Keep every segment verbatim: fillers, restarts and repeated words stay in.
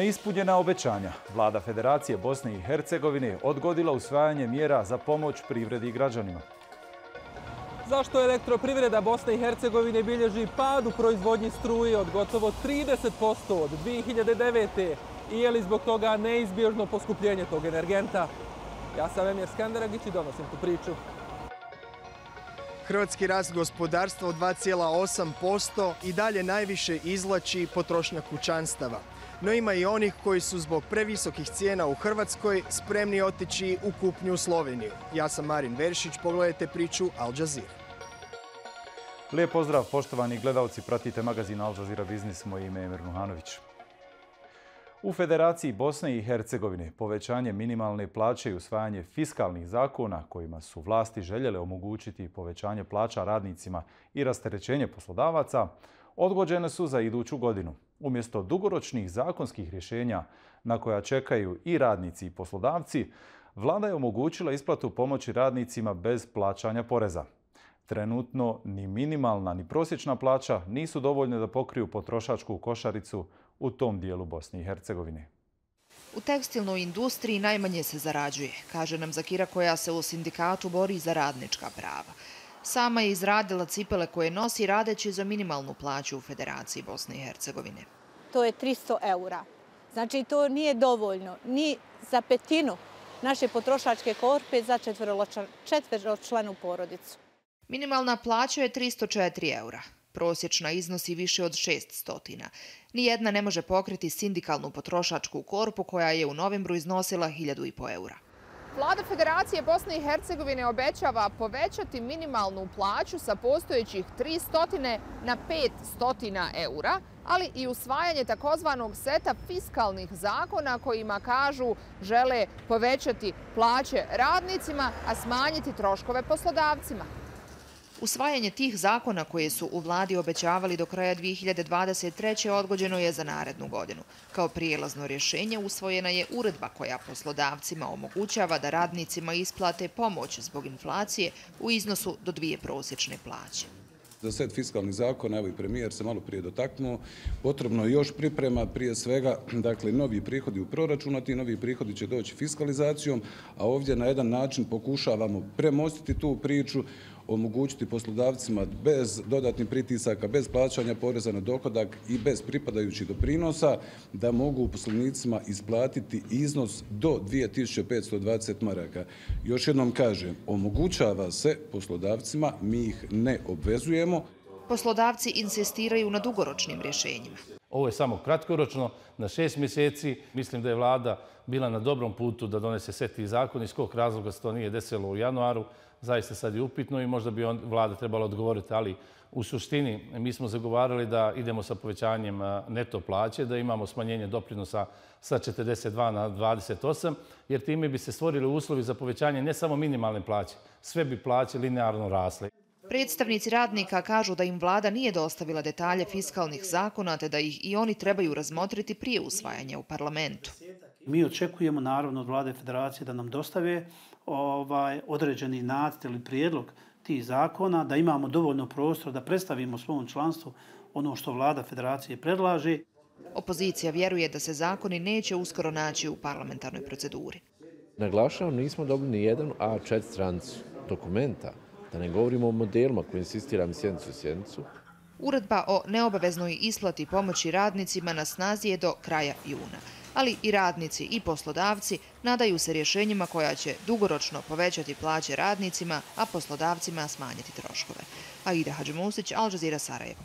Neispunjena obećanja. Vlada Federacije Bosne i Hercegovine odgodila usvajanje mjera za pomoć privredi i građanima. Zašto elektroprivreda Bosne i Hercegovine bilježi pad u proizvodnji struje od gotovo trideset posto od dvije hiljade devete. I je li zbog toga neizbježno poskupljenje tog energenta? Ja sam Emir Skanderagić i donosim tu priču. Hrvatski rast gospodarstva od dva zarez osam posto i dalje najviše izvlači potrošnja kućanstava. No ima i onih koji su zbog previsokih cijena u Hrvatskoj spremni otići u kupnju u Sloveniju. Ja sam Marin Veršić, pogledajte priču Al Jazeera. Lijep pozdrav, poštovani gledalci, pratite magazin Al Jazeera Biznis, moje ime je Emir Nuhanović. U Federaciji Bosne i Hercegovine povećanje minimalne plaće i usvajanje fiskalnih zakona kojima su vlasti željele omogućiti povećanje plaća radnicima i rasterećenje poslodavaca odgođene su za iduću godinu. Umjesto dugoročnih zakonskih rješenja na koja čekaju i radnici i poslodavci, vlada je omogućila isplatu pomoći radnicima bez plaćanja poreza. Trenutno ni minimalna ni prosječna plaća nisu dovoljne da pokriju potrošačku košaricu u tom dijelu Bosne i Hercegovine. U tekstilnoj industriji najmanje se zarađuje, kaže nam Zakira koja se u sindikatu bori za radnička prava. Sama je izradila cipele koje nosi radeći za minimalnu plaću u Federaciji Bosne i Hercegovine. To je tristo eura. Znači to nije dovoljno ni za petinu naše potrošačke korpe za četveročlanu porodicu. Minimalna plaća je tristo četiri eura. Prosječna iznosi više od šeststo. Nijedna ne može pokriti sindikalnu potrošačku korpu koja je u novembru iznosila hiljadu i po eura. Vlada Federacije Bosne i Hercegovine obećava povećati minimalnu plaću sa postojećih tristo na petsto eura, ali i usvajanje takozvanog seta fiskalnih zakona kojima kažu žele povećati plaće radnicima, a smanjiti troškove poslodavcima. Usvajanje tih zakona koje su u vladi obećavali do kraja dvije hiljade dvadeset treće odgođeno je za narednu godinu. Kao prijelazno rješenje usvojena je uredba koja poslodavcima omogućava da radnicima isplate pomoć zbog inflacije u iznosu do dvije prosječne plaće. Za set fiskalnih zakona, evo i premijer se malo prije dotaknuo, potrebno je još priprema, prije svega, dakle, novi prihodi u proračunu, a ti novi prihodi će doći fiskalizacijom, a ovdje na jedan način pokušavamo premostiti tu priču, omogućiti poslodavcima bez dodatnih pritisaka, bez plaćanja poreza na dohodak i bez pripadajućih doprinosa da mogu poslovnicima isplatiti iznos do dvije tisuće petsto dvadeset maraka. Još jednom kažem, omogućava se poslodavcima, mi ih ne obvezujemo. Poslodavci insistiraju na dugoročnim rješenjima. Ovo je samo kratkoročno, na šest mjeseci. Mislim da je vlada bila na dobrom putu da donese set tih zakona. Iz kog razloga se to nije desilo u januaru, zaista sad je upitno i možda bi vlada trebala odgovoriti, ali u suštini mi smo zagovarali da idemo sa povećanjem neto plaće, da imamo smanjenje doprinosa sa četrdeset dva na dvadeset osam, jer time bi se stvorili uslovi za povećanje ne samo minimalne plaće, sve bi plaće linearno rasle. Predstavnici radnika kažu da im vlada nije dostavila detalje fiskalnih zakona, te da ih i oni trebaju razmotriti prije usvajanja u parlamentu. Mi očekujemo naravno od vlade Federacije da nam dostave ovaj, određeni nacrt ili prijedlog tih zakona, da imamo dovoljno prostora da predstavimo svom članstvu ono što vlada Federacije predlaže. Opozicija vjeruje da se zakoni neće uskoro naći u parlamentarnoj proceduri. Naglašavam, nismo dobili ni jedan A četiri stranicu dokumenta, da ne govorimo o modelima koji insistiram sjednicu u sjednicu. Uredba o neobaveznoj isplati pomoći radnicima na snazi je do kraja juna. Ali i radnici i poslodavci nadaju se rješenjima koja će dugoročno povećati plaće radnicima, a poslodavcima smanjiti troškove. Aida Hadžimusić, Al Jazeera, Sarajevo.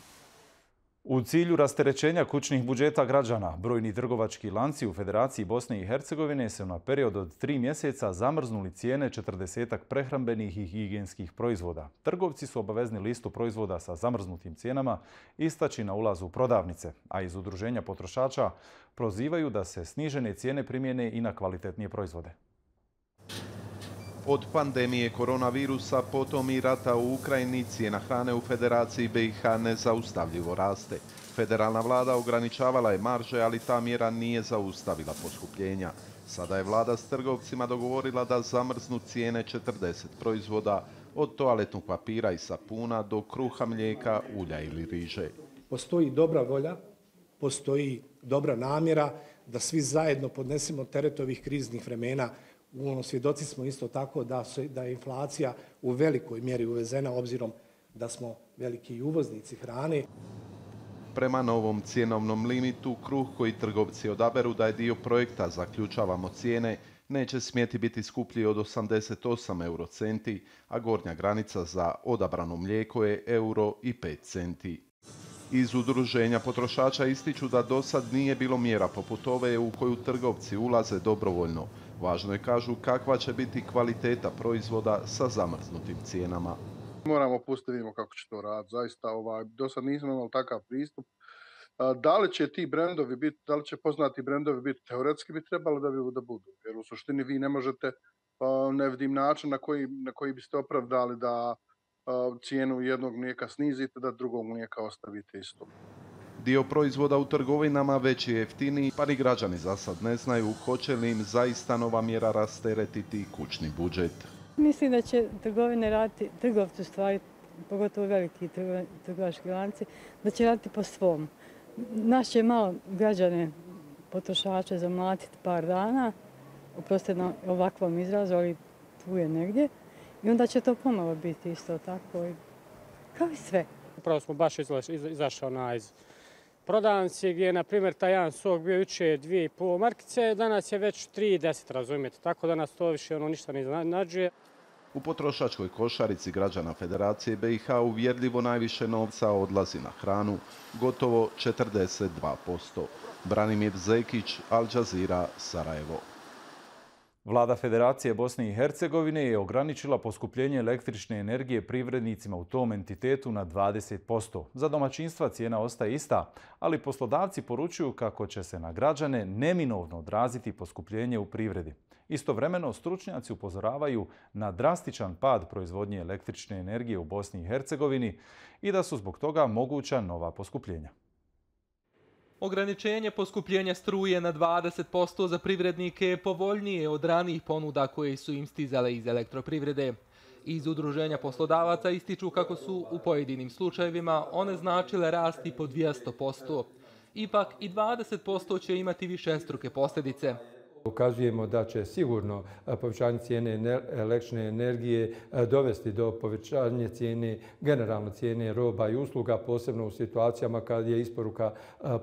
U cilju rasterećenja kućnih budžeta građana, brojni trgovački lanci u Federaciji Bosne i Hercegovine su na period od tri mjeseca zamrznuli cijene četrdesetak prehrambenih i higijenskih proizvoda. Trgovci su obavezni listu proizvoda sa zamrznutim cijenama istaći na ulazu u prodavnice, a iz Udruženja potrošača prozivaju da se snižene cijene primjene i na kvalitetnije proizvode. Od pandemije koronavirusa, potom i rata u Ukrajini, cijena hrane u Federaciji B i H nezaustavljivo raste. Federalna vlada ograničavala je marže, ali ta mjera nije zaustavila poskupljenja. Sada je vlada s trgovcima dogovorila da zamrznu cijene četrdeset proizvoda, od toaletnog papira i sapuna do kruha, mlijeka, ulja ili riže. Postoji dobra volja postoji dobra namjera da svi zajedno podnesemo teret ovih kriznih vremena. Ono, svjedoci smo isto tako da, se, da je inflacija u velikoj mjeri uvezena obzirom da smo veliki uvoznici hrane. Prema novom cijenovnom limitu, kruh koji trgovci odaberu da je dio projekta zaključavamo cijene, neće smjeti biti skuplji od osamdeset osam eurocenti, a gornja granica za odabrano mlijeko je euro i pet centi. Iz udruženja potrošača ističu da do sad nije bilo mjera poput ove u koju trgovci ulaze dobrovoljno. Važno je, kažu, kakva će biti kvaliteta proizvoda sa zamrznutim cijenama. Moramo pustiti, vidimo kako će to raditi. Zaista, ovaj, do sad nismo imali takav pristup. Da li će ti brendovi biti, da li će poznati brendovi biti, teoretski bi trebalo da, bi, da budu. Jer u suštini vi ne možete, ne vidim način na koji, na koji biste opravdali da cijenu jednog mlijeka snizite, da drugog mlijeka ostavite isto. Dio proizvoda u trgovinama već je jeftiniji, pa ni građani za sad ne znaju hoće li im zaista nova mjera rasteretiti kućni budžet. Mislim da će trgovine raditi, trgovci u stvari, pogotovo veliki trgovački lanci, da će raditi po svom. Naš će malo građane, potrošače zamlatiti par dana, oprostite na ovakvom izrazu, ali tu je negdje. I onda će to pomalo biti isto tako, kao i sve. Upravo smo baš izašao na iz prodavnici gdje je, na primjer, taj jedan sok bio juče dvije i pol markice, danas je već tri i deset, razumijete, tako da nas to više ono ništa ne iznenađuje. U potrošačkoj košarici građana Federacije B i H uvjerljivo najviše novca odlazi na hranu, gotovo četrdeset dva posto. Branimir Zekić, Al Jazeera, Sarajevo. Vlada Federacije Bosne i Hercegovine je ograničila poskupljenje električne energije privrednicima u tom entitetu na dvadeset posto. Za domaćinstva cijena ostaje ista, ali poslodavci poručuju kako će se na građane neminovno odraziti poskupljenje u privredi. Istovremeno, stručnjaci upozoravaju na drastičan pad proizvodnje električne energije u Bosni i Hercegovini i da su zbog toga moguća nova poskupljenja. Ograničenje poskupljenja struje na dvadeset posto za privrednike je povoljnije od ranijih ponuda koje su im stizale iz elektroprivrede. Iz udruženja poslodavaca ističu kako su u pojedinim slučajevima one značile rasti po dvjesto posto. Ipak i dvadeset posto će imati višestruke posljedice. Ukazujemo da će sigurno povećanje cijene električne energije dovesti do povećanja cijene, generalno cijene roba i usluga, posebno u situacijama kad je isporuka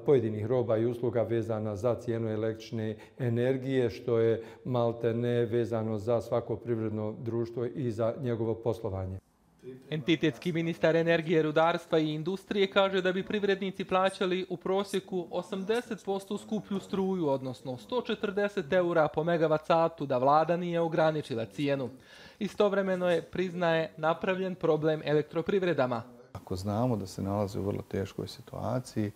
pojedinih roba i usluga vezana za cijenu električne energije, što je maltene vezano za svako privredno društvo i za njegovo poslovanje. Entitetski ministar energije, rudarstva i industrije kaže da bi privrednici plaćali u prosjeku osamdeset posto skuplju struju, odnosno sto četrdeset eura po megavat satu, da vlada nije ograničila cijenu. Istovremeno je, priznaje, napravljen problem elektroprivredama. Ako znamo da se nalaze u vrlo teškoj situaciji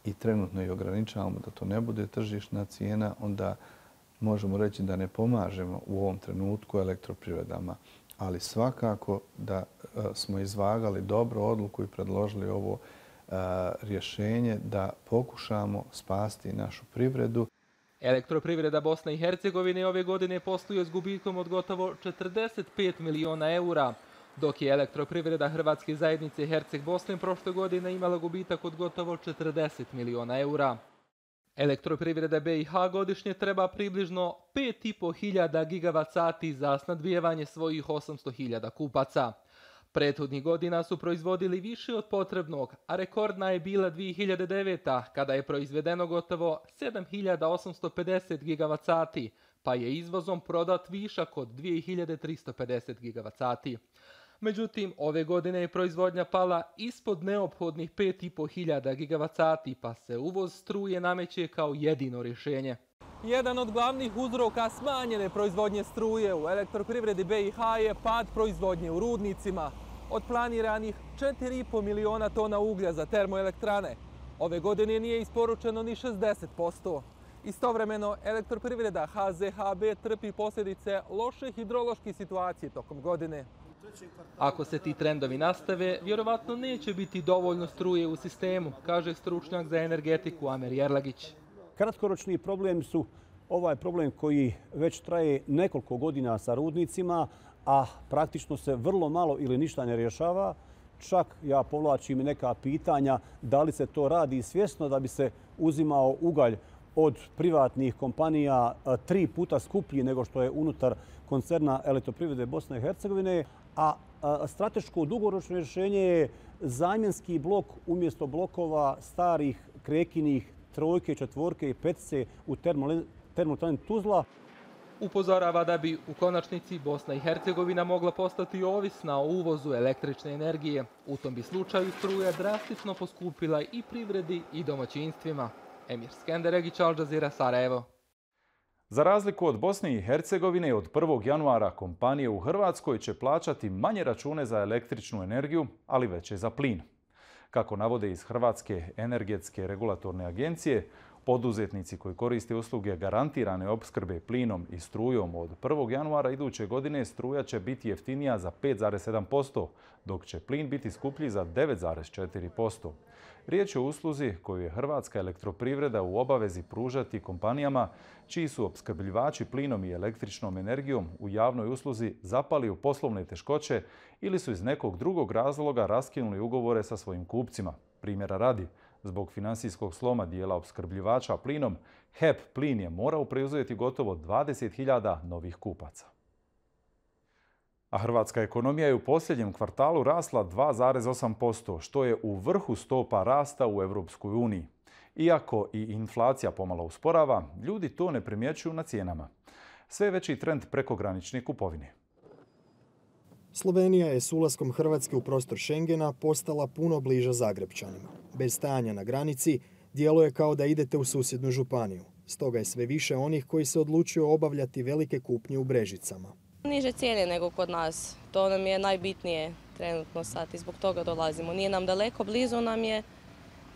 i trenutno i ograničavamo da to ne bude tržišna cijena, onda možemo reći da ne pomažemo u ovom trenutku elektroprivredama. Ali svakako da smo izvagali dobru odluku i predložili ovo rješenje da pokušamo spasti našu privredu. Elektroprivreda Bosne i Hercegovine ove godine posluje s gubitkom od gotovo četrdeset pet miliona eura, dok je elektroprivreda Hrvatske zajednice Herceg Bosne prošle godine imala gubitak od gotovo četrdeset miliona eura. Elektroprivreda B i H godišnje treba približno pet i po hiljada gigavat sati za snadbijevanje svojih osamsto hiljada kupaca. Prethodnih godina su proizvodili više od potrebnog, a rekordna je bila dvije hiljade deveta. kada je proizvedeno gotovo sedam hiljada osamsto pedeset gigavat sati, pa je izvozom prodat višak od dvije hiljade tristo pedeset gigavat sati. Međutim, ove godine je proizvodnja pala ispod neophodnih pet i po hiljada gigavat sati, pa se uvoz struje nameće kao jedino rješenje. Jedan od glavnih uzroka smanjene proizvodnje struje u elektroprivredi B i H je pad proizvodnje u rudnicima. Od planiranih četiri i po miliona tona uglja za termoelektrane, ove godine nije isporučeno ni šezdeset posto. Istovremeno, elektroprivreda H Z H B trpi posljedice loše hidrološke situacije tokom godine. Ako se ti trendovi nastave, vjerovatno neće biti dovoljno struje u sistemu, kaže stručnjak za energetiku Amer Jerlagić. Kratkoročni problem su ovaj problem koji već traje nekoliko godina sa rudnicima, a praktično se vrlo malo ili ništa ne rješava. čak ja povlačim i neka pitanja da li se to radi svjesno da bi se uzimao ugalj od privatnih kompanija tri puta skuplji nego što je unutar koncerna Elektroprivrede Bosne i Hercegovine, a strateško dugoročno rješenje je zamjenski blok umjesto blokova starih krekinih trojke, četvorke i petice u termoelektrani Tuzla. Upozorava da bi u konačnici Bosna i Hercegovina mogla postati ovisna o uvozu električne energije. U tom bi slučaju struja drastično poskupila i privredi i domaćinstvima. Emir Skenderegić, Al Jazeera, Sarajevo. Za razliku od Bosne i Hercegovine, od prvog januara kompanije u Hrvatskoj će plaćati manje račune za električnu energiju, ali veće za plin. Kako navode iz Hrvatske energetske regulatorne agencije, poduzetnici koji koriste usluge garantirane opskrbe plinom i strujom od prvog januara iduće godine struja će biti jeftinija za pet zarez sedam posto, dok će plin biti skuplji za devet zarez četiri posto. Riječ je o usluzi koju je Hrvatska elektroprivreda u obavezi pružati kompanijama čiji su opskrbljivači plinom i električnom energijom u javnoj usluzi zapali u poslovne teškoće ili su iz nekog drugog razloga raskinuli ugovore sa svojim kupcima. Primjera radi, zbog finansijskog sloma dijela opskrbljivača plinom, H E P Plin je morao preuzeti gotovo dvadeset hiljada novih kupaca. A hrvatska ekonomija je u posljednjem kvartalu rasla dva zarez osam posto, što je u vrhu stopa rasta u Europskoj uniji. Iako i inflacija pomalo usporava, ljudi to ne primjećuju na cijenama. Sve veći trend prekogranične kupovine. Slovenija je s ulaskom Hrvatske u prostor Schengena postala puno bliža Zagrebčanima. Bez stajanja na granici djeluje kao da idete u susjednu županiju. Stoga je sve više onih koji se odlučuju obavljati velike kupnje u Brežicama. Niže cijene nego kod nas. To nam je najbitnije trenutno sad i zbog toga dolazimo. Nije nam daleko, blizu nam je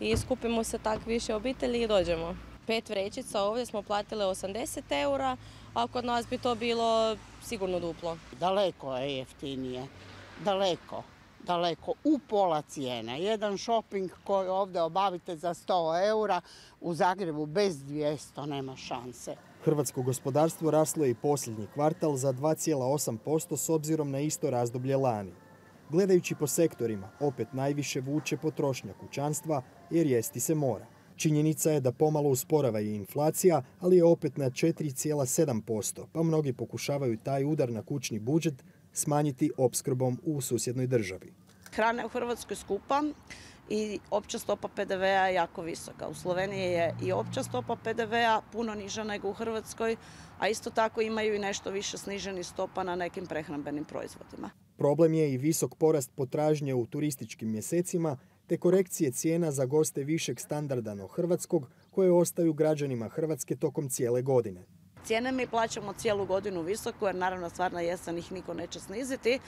i skupimo se tak više obitelji i dođemo. Pet vrećica ovdje smo platile osamdeset eura, a kod nas bi to bilo sigurno duplo. Daleko je jeftinije, daleko, daleko, u pola cijene. Jedan shopping koji ovdje obavite za sto eura, u Zagrebu bez dvjesto nema šanse. Hrvatsko gospodarstvo raslo je i posljednji kvartal za dva zarez osam posto s obzirom na isto razdoblje lani. Gledajući po sektorima, opet najviše vuče potrošnja kućanstva jer jesti se mora. Činjenica je da pomalo usporava i inflacija, ali je opet na četiri zarez sedam posto, pa mnogi pokušavaju taj udar na kućni budžet smanjiti opskrbom u susjednoj državi. Hrana je u Hrvatskoj skupa i opća stopa P D V-a je jako visoka. U Sloveniji je i opća stopa P D V-a puno niža nego u Hrvatskoj, a isto tako imaju i nešto više sniženih stopa na nekim prehrambenim proizvodima. Problem je i visok porast potražnje u turističkim mjesecima, te korekcije cijena za goste višeg standarda no hrvatskog, koje ostaju građanima Hrvatske tokom cijele godine. Cijene mi plaćamo cijelu godinu visoko, jer naravno stvarna jesen ih niko neće sniziti,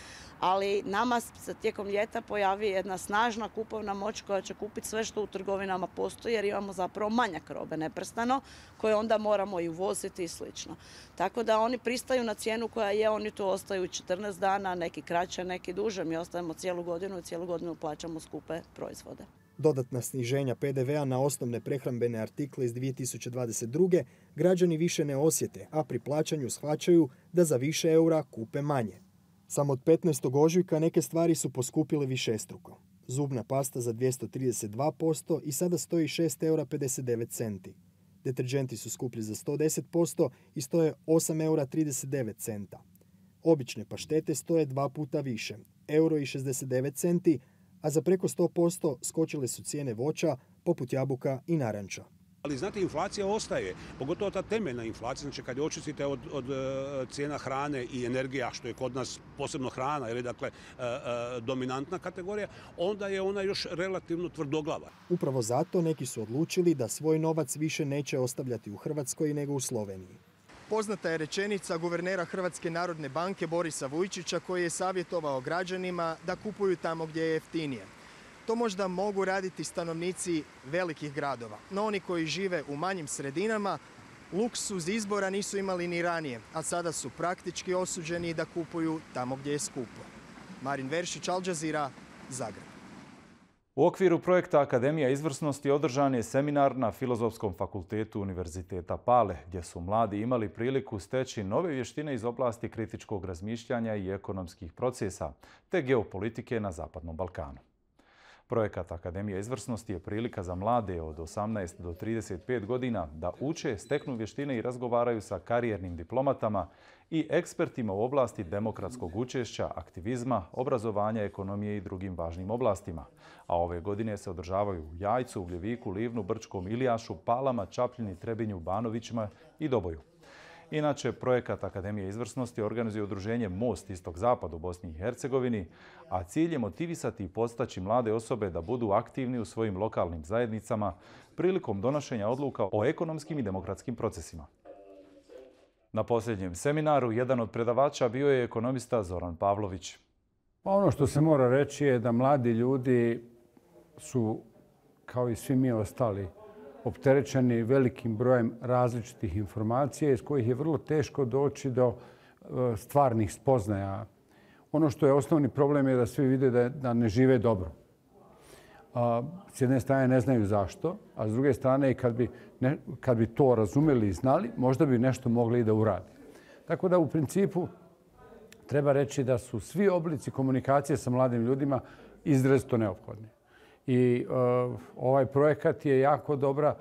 ali nama se tijekom ljeta pojavi jedna snažna kupovna moć koja će kupiti sve što u trgovinama postoji, jer imamo zapravo manjak robe neprestano, koje onda moramo i uvoziti i slično. Tako da oni pristaju na cijenu koja je, oni tu ostaju četrnaest dana, neki kraće, neki duže, mi ostajemo cijelu godinu i cijelu godinu plaćamo skupe proizvode. Dodatna sniženja P D V-a na osnovne prehrambene artikle iz dvije tisuće dvadeset druge građani više ne osjete, a pri plaćanju shvaćaju da za više eura kupe manje. Samo od petnaestog ožujka neke stvari su poskupile višestruko. Zubna pasta za dvjesto trideset dva posto i sada stoji šest eura pedeset devet centi. Deterdženti su skuplji za sto deset posto i stoje osam eura trideset devet centa. Obične paštete stoje dva puta više, euro i šezdeset devet centi, a za preko sto posto skočile su cijene voća poput jabuka i naranča. Ali znate, inflacija ostaje, pogotovo ta temeljna inflacija, znači kad je očistite od, od cijena hrane i energija, što je kod nas posebno hrana, ili dakle dominantna kategorija, onda je ona još relativno tvrdoglava. Upravo zato neki su odlučili da svoj novac više neće ostavljati u Hrvatskoj nego u Sloveniji. Poznata je rečenica guvernera Hrvatske narodne banke Borisa Vujčića koji je savjetovao građanima da kupuju tamo gdje je jeftinije. To možda mogu raditi stanovnici velikih gradova, no oni koji žive u manjim sredinama luksuz izbora nisu imali ni ranije, a sada su praktički osuđeni da kupuju tamo gdje je skupo. Marin Veršić, Al Jazeera, Zagreb. U okviru projekta Akademija izvrsnosti održan je seminar na Filozofskom fakultetu Univerziteta Pale, gdje su mladi imali priliku steći nove vještine iz oblasti kritičkog razmišljanja i ekonomskih procesa, te geopolitike na Zapadnom Balkanu. Projekat Akademija izvrsnosti je prilika za mlade od osamnaest do trideset pet godina da uče, steknu vještine i razgovaraju sa karijernim diplomatama i ekspertima u oblasti demokratskog učešća, aktivizma, obrazovanja, ekonomije i drugim važnim oblastima. A ove godine se održavaju u Jajcu, Ugljeviku, Livnu, Brčkom, Ilijašu, Palama, Čapljini, Trebinju, Banovićima i Doboju. Inače, projekat Akademije izvrsnosti organizuje udruženje Most Istok-Zapad u Bosni i Hercegovini, a cilj je motivisati i podstaći mlade osobe da budu aktivni u svojim lokalnim zajednicama prilikom donošenja odluka o ekonomskim i demokratskim procesima. Na posljednjem seminaru jedan od predavača bio je ekonomista Zoran Pavlović. Ono što se mora reći je da mladi ljudi su, kao i svi mi ostali, opterećeni velikim brojem različitih informacija iz kojih je vrlo teško doći do stvarnih spoznaja. Ono što je osnovni problem je da svi vide da, da ne žive dobro. S jedne strane ne znaju zašto, a s druge strane kad bi, ne, kad bi to razumeli i znali, možda bi nešto mogli i da uradi. Tako da u principu treba reći da su svi oblici komunikacije sa mladim ljudima izrazito neophodni. I uh, ovaj projekat je jako dobra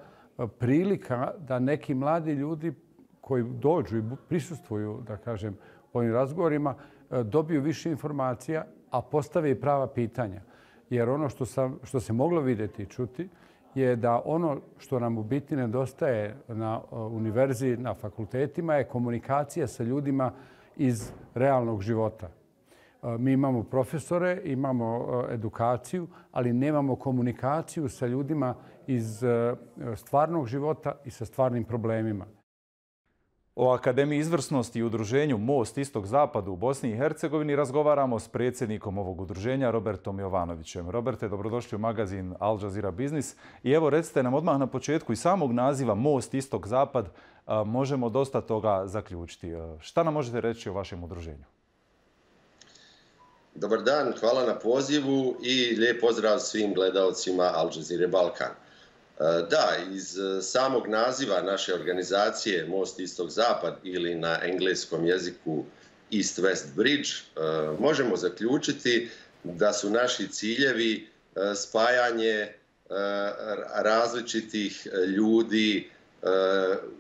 prilika da neki mladi ljudi koji dođu i prisustvuju, da kažem, ovim razgovorima, dobiju više informacija, a postave i prava pitanja. Jer ono što, sam, što se moglo vidjeti i čuti je da ono što nam u biti nedostaje na univerziji, na fakultetima je komunikacija sa ljudima iz realnog života. Mi imamo profesore, imamo edukaciju, ali nemamo komunikaciju sa ljudima iz stvarnog života i sa stvarnim problemima. O Akademiji izvrsnosti i udruženju Most Istok-Zapad u Bosni i Hercegovini razgovaramo s predsjednikom ovog udruženja Robertom Jovanovićem. Roberte, dobrodošli u magazin Al Jazeera Biznis. I evo recite nam odmah na početku iz samog naziva Most Istok-Zapad možemo dosta toga zaključiti. Šta nam možete reći o vašem udruženju? Dobar dan, hvala na pozivu i lijep pozdrav svim gledalcima Al Jazeera Balkan. Da, iz samog naziva naše organizacije Most Istok-Zapad ili na engleskom jeziku East-West Bridge možemo zaključiti da su naši ciljevi spajanje različitih ljudi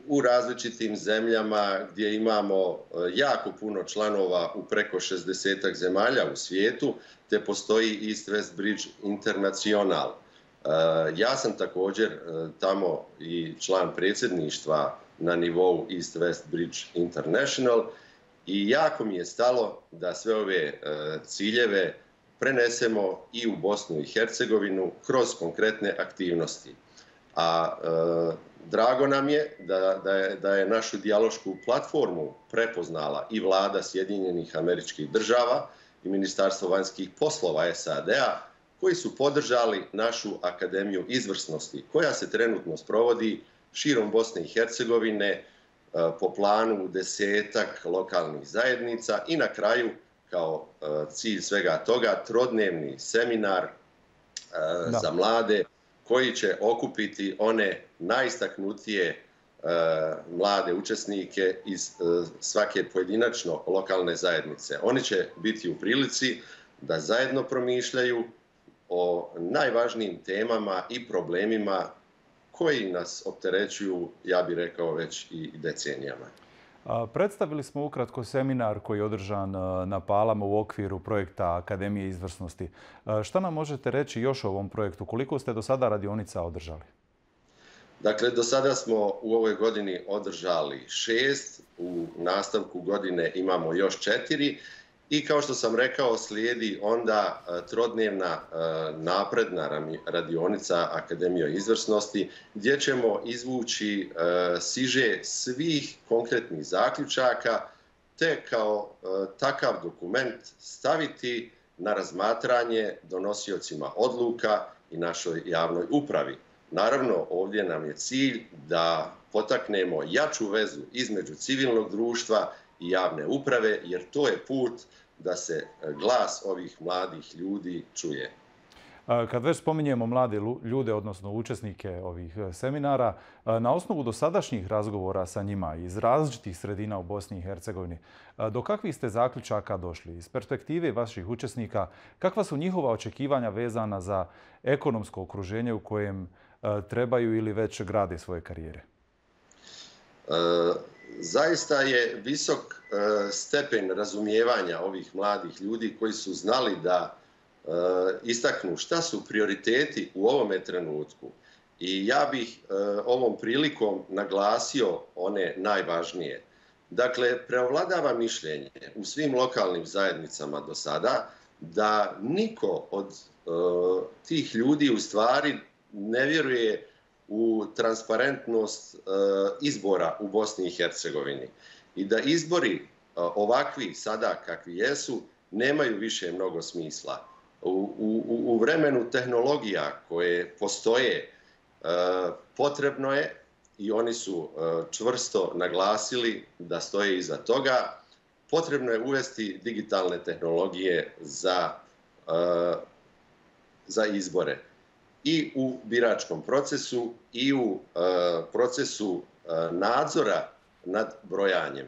u različitim zemljama gdje imamo jako puno članova u preko šezdesetak zemalja u svijetu, te postoji East-West Bridge International. Ja sam također tamo i član predsjedništva na nivou East-West Bridge International i jako mi je stalo da sve ove ciljeve prenesemo i u Bosnu i Hercegovinu kroz konkretne aktivnosti. A drago nam je da, da, je da je našu dijalošku platformu prepoznala i vlada Sjedinjenih Američkih Država i Ministarstvo vanjskih poslova S A D-a, koji su podržali našu Akademiju izvrsnosti, koja se trenutno sprovodi širom Bosne i Hercegovine po planu desetak lokalnih zajednica i na kraju, kao cilj svega toga, trodnevni seminar da. za mlade koji će okupiti one najistaknutije mlade učesnike iz svake pojedinačno lokalne zajednice. Oni će biti u prilici da zajedno promišljaju o najvažnijim temama i problemima koji nas opterećuju, ja bih rekao, već i decenijama. Predstavili smo ukratko seminar koji je održan na Palama u okviru projekta Akademije izvrsnosti. Šta nam možete reći još o ovom projektu? Koliko ste do sada radionica održali? Dakle, do sada smo u ovoj godini održali šest, u nastavku godine imamo još četiri. I kao što sam rekao, slijedi onda trodnevna napredna radionica Akademije izvrsnosti gdje ćemo izvući siže svih konkretnih zaključaka te kao takav dokument staviti na razmatranje donosiocima odluka i našoj javnoj upravi. Naravno, ovdje nam je cilj da potaknemo jaču vezu između civilnog društva i javne uprave, jer to je put da se glas ovih mladih ljudi čuje. Kad već spominjemo mlade ljude, odnosno učesnike ovih seminara, na osnovu dosadašnjih razgovora sa njima iz različitih sredina u Bosni i Hercegovini, do kakvih ste zaključaka došli? Iz perspektive vaših učesnika, kakva su njihova očekivanja vezana za ekonomsko okruženje u kojem trebaju ili već grade svoje karijere? E, zaista je visok e, stepen razumijevanja ovih mladih ljudi koji su znali da e, istaknu šta su prioriteti u ovome trenutku. I ja bih e, ovom prilikom naglasio one najvažnije. Dakle, preovladava mišljenje u svim lokalnim zajednicama do sada da niko od e, tih ljudi u stvari ne vjeruje u transparentnost e, izbora u Bosni i Hercegovini. I da izbori e, ovakvi sada kakvi jesu nemaju više mnogo smisla. U, u, u vremenu tehnologija koje postoje e, potrebno je, i oni su e, čvrsto naglasili da stoje iza toga, potrebno je uvesti digitalne tehnologije za, e, za izbore. I u biračkom procesu i u uh, procesu uh, nadzora nad brojanjem.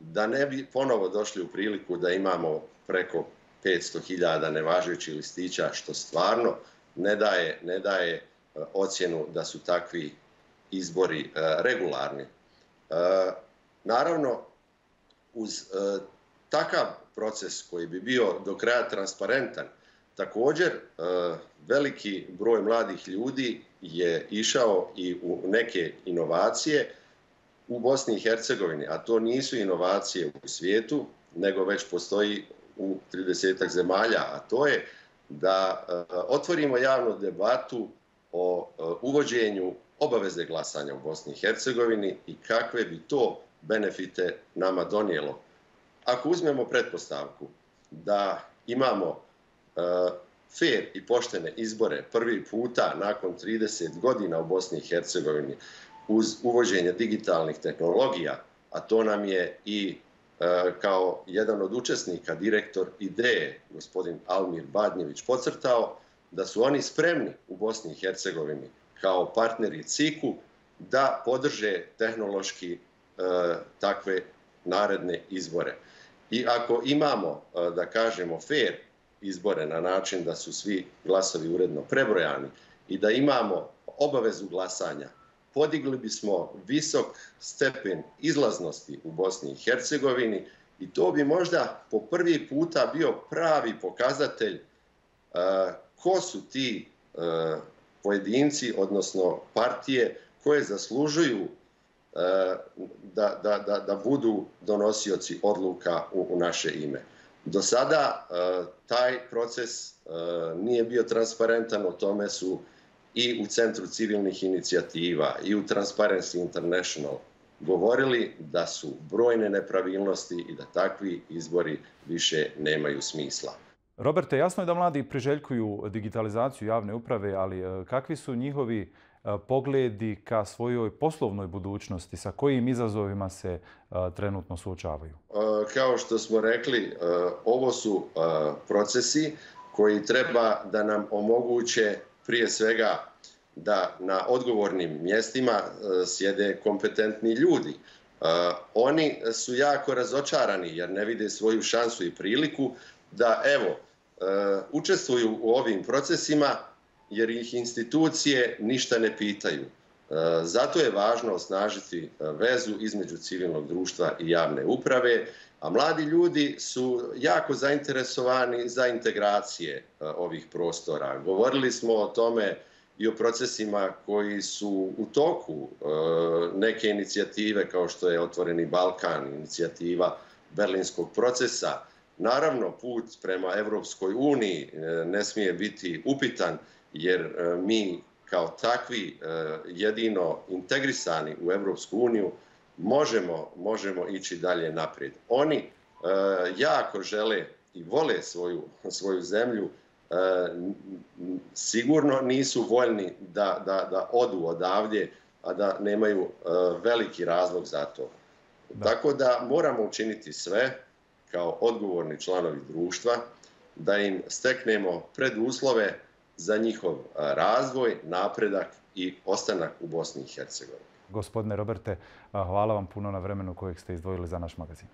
Da ne bi ponovo došli u priliku da imamo preko petsto hiljada nevažećih listića, što stvarno ne daje, ne daje uh, ocjenu da su takvi izbori uh, regularni. Uh, naravno, uz uh, takav proces koji bi bio do kraja transparentan, također, veliki broj mladih ljudi je išao i u neke inovacije u Bosni i Hercegovini, a to nisu inovacije u svijetu, nego već postoji u tridesetak zemalja, a to je da otvorimo javnu debatu o uvođenju obaveze glasanja u Bosni i Hercegovini i kakve bi to benefite nama donijelo. Ako uzmemo pretpostavku da imamo fair i poštene izbore prvi puta nakon trideset godina u Bosni i Hercegovini uz uvođenje digitalnih tehnologija, a to nam je i e, kao jedan od učesnika, direktor ideje, gospodin Almir Badnjević, podcrtao da su oni spremni u Bosni i Hercegovini kao partneri C I K-u da podrže tehnološki e, takve naredne izbore. I ako imamo, e, da kažemo, fair izbore na način da su svi glasovi uredno prebrojani i da imamo obavezu glasanja, podigli bismo visok stepen izlaznosti u Bosni i Hercegovini i to bi možda po prvi puta bio pravi pokazatelj uh, ko su ti uh, pojedinci, odnosno partije koje zaslužuju uh, da, da, da, da budu donosioci odluka u, u naše ime. Do sada uh, taj proces uh, nije bio transparentan, o tome su i u Centru civilnih inicijativa i u Transparency International govorili da su brojne nepravilnosti i da takvi izbori više nemaju smisla. Roberte, jasno je da mladi priželjkuju digitalizaciju javne uprave, ali kakvi su njihovi pogledi ka svojoj poslovnoj budućnosti, sa kojim izazovima se trenutno suočavaju? Kao što smo rekli, ovo su procesi koji treba da nam omoguće prije svega da na odgovornim mjestima sjede kompetentni ljudi. Oni su jako razočarani jer ne vide svoju šansu i priliku da, evo, učestvuju u ovim procesima jer ih institucije ništa ne pitaju. Zato je važno osnažiti vezu između civilnog društva i javne uprave, a mladi ljudi su jako zainteresovani za integracije ovih prostora. Govorili smo o tome i o procesima koji su u toku, neke inicijative kao što je Otvoreni Balkan, inicijativa Berlinskog procesa. Naravno, put prema Evropskoj uniji ne smije biti upitan, jer mi kao takvi jedino integrisani u Evropsku uniju možemo, možemo ići dalje naprijed. Oni jako žele i vole svoju, svoju zemlju, sigurno nisu voljni da, da, da odu odavdje, a da nemaju veliki razlog za to. Da. Tako da moramo učiniti sve kao odgovorni članovi društva, da im steknemo preduslove za njihov razvoj, napredak i ostanak u Bosni i Hercegovini. Gospodine Roberte, hvala vam puno na vremenu kojeg ste izdvojili za naš magazin.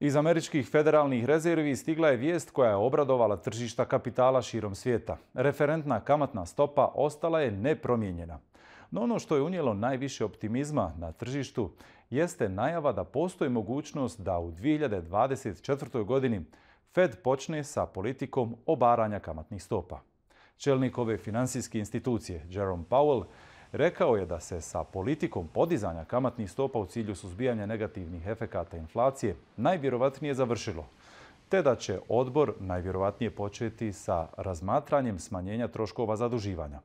Iz američkih federalnih rezervi stigla je vijest koja je obradovala tržišta kapitala širom svijeta. Referentna kamatna stopa ostala je nepromijenjena. No ono što je unijelo najviše optimizma na tržištu jeste najava da postoji mogućnost da u dvije hiljade dvadeset četvrtoj. godini Fed počne sa politikom obaranja kamatnih stopa. Čelnik ove finansijske institucije, Jerome Powell, rekao je da se sa politikom podizanja kamatnih stopa u cilju suzbijanja negativnih efekata inflacije najvjerovatnije završilo, te da će odbor najvjerovatnije početi sa razmatranjem smanjenja troškova zaduživanja.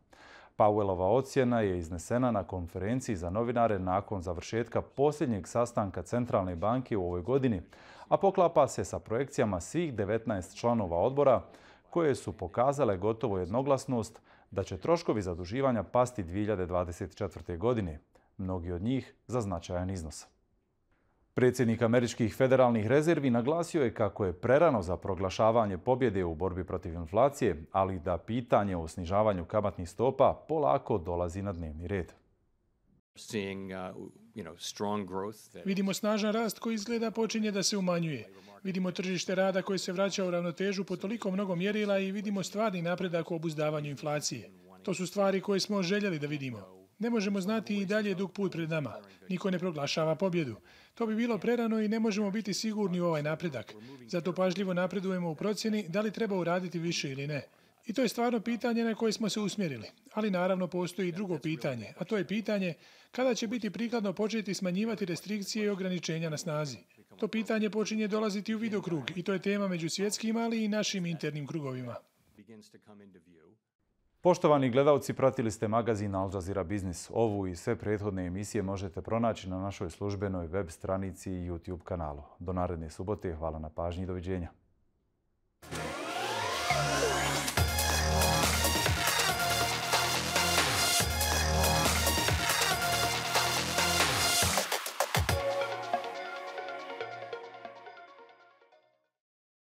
Powellova ocjena je iznesena na konferenciji za novinare nakon završetka posljednjeg sastanka Centralne banke u ovoj godini, a poklapa se sa projekcijama svih devetnaest članova odbora koje su pokazale gotovo jednoglasnost da će troškovi zaduživanja pasti dvije hiljade dvadeset četvrte. godine, mnogi od njih za značajan iznos. Predsjednik američkih federalnih rezervi naglasio je kako je prerano za proglašavanje pobjede u borbi protiv inflacije, ali da pitanje o snižavanju kamatnih stopa polako dolazi na dnevni red. Vidimo snažan rast koji izgleda počinje da se umanjuje. Vidimo tržište rada koje se vraća u ravnotežu po toliko mnogo mjerila i vidimo stvarni napredak u obuzdavanju inflacije. To su stvari koje smo željeli da vidimo. Ne možemo znati i dalje dug put pred nama. Niko ne proglašava pobjedu. To bi bilo prerano i ne možemo biti sigurni u ovaj napredak. Zato pažljivo napredujemo u procjeni da li treba uraditi više ili ne. I to je stvarno pitanje na koje smo se usmjerili. Ali naravno postoji i drugo pitanje, a to je pitanje kada će biti prikladno početi smanjivati restrikcije i ograničenja na snazi. To pitanje počinje dolaziti u vidokrug i to je tema među svjetskim, ali i našim internim krugovima. Poštovani gledalci, pratili ste magazin Al Jazeera Biznis. Ovu i sve prethodne emisije možete pronaći na našoj službenoj web stranici i YouTube kanalu. Do naredne subote, hvala na pažnji i doviđenja.